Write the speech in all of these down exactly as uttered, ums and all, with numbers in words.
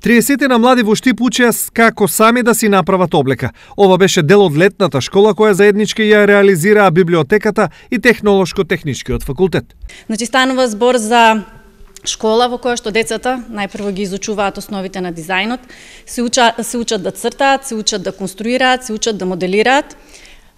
триесет на млади во Штип учеа како сами да си направат облека. Ова беше дел од летната школа која заеднички ја реализираа библиотеката и Технолошко-техничкиот факултет. Значи станува збор за школа во која што децата најпрво ги изучуваат основите на дизајнот, се учат, се учат да цртаат, се учат да конструираат, се учат да моделираат.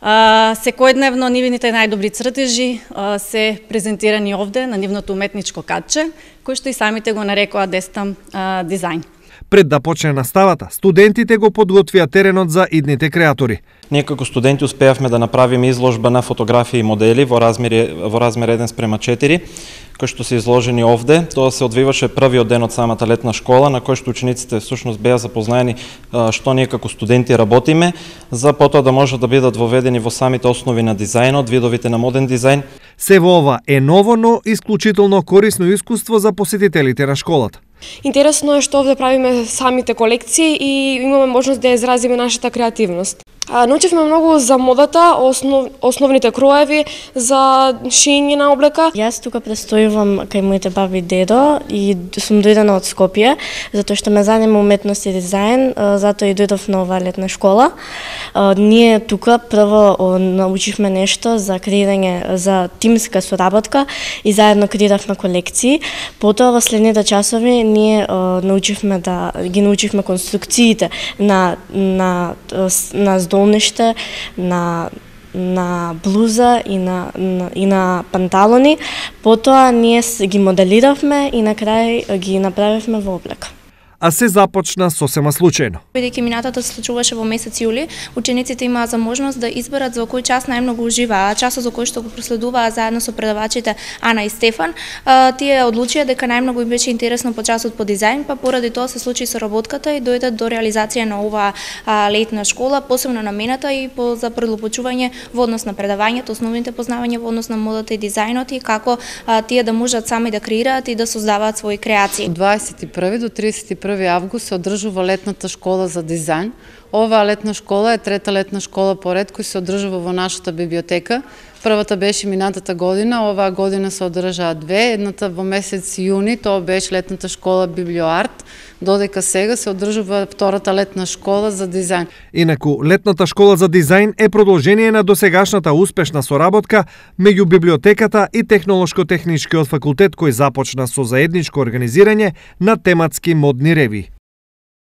Uh, секојдневно нивните најдобри цртежи uh, се презентирани овде на нивното уметничко катче, кој што и самите го нарекоа Дестам uh, дизајн. Пред да почне наставата, студентите го подготвија теренот за идните креатори. Ние како студенти успеавме да направиме изложба на фотографии и модели во размер во размер еден спрема четири, кои што се изложени овде. Тоа се одвиваше првиот ден од самата летна школа, на кој што учениците всушност беа запознаени што ние како студенти работиме, за потоа да можат да бидат воведени во самите основи на дизајнот, видовите на моден дизајн. Се во ова е ново, но исклучително корисно искуство за посетителите на школата. Интересно е што овде правиме самите колекции и имаме можност да изразиме нашата креативност. А, научивме многу за модата, основ, основните кроеви, за шиење на облека. Јас тука престојувам кај моите баби и дедо и сум дојдена од Скопје, затоа што ме занима уметност и дизајн, затоа и дојдов на оваа летна школа. Ние тука прво научивме нешто за креирање, за тимска соработка и заедно креиравме колекции. Потоа во следните часови ние научивме да ги научивме конструкциите на на на здолниште, на на блуза и на, на и на панталони. Потоа ние ги моделиравме и на крај ги направивме во облека. А се започна сосема случајно. Бидејќи минатата се случуваше во месец јули, учениците имаа за можност да изберат за кој час најмногу уживаа. Часот за кој што го проследуваа заедно со предавачите Ана и Стефан, тие одлучија дека најмногу им беше интересно по часот по дизајн, па поради тоа се случи соработката и дојдат до реализација на оваа летна школа, посебно намената и по за предлопочување во однос на предавањето, основните познавања во однос на модата и дизајнот и како а, тие да можат сами да креираат и да создаваат своји креации. Од дваесет и први до тридесет и први август се одржува летната школа за дизајн. Оваа летна школа е трета летна школа поред кој се одржува во нашата библиотека. Првата беше минатата година, оваа година се одржаа две, едната во месец јуни, тоа беше летната школа Библиоарт, додека сега се одржува втората летна школа за дизајн. Инаку, летната школа за дизајн е продолжение на досегашната успешна соработка меѓу библиотеката и Технолошко-техничкиот факултет кој започна со заедничко организирање на тематски модни реви.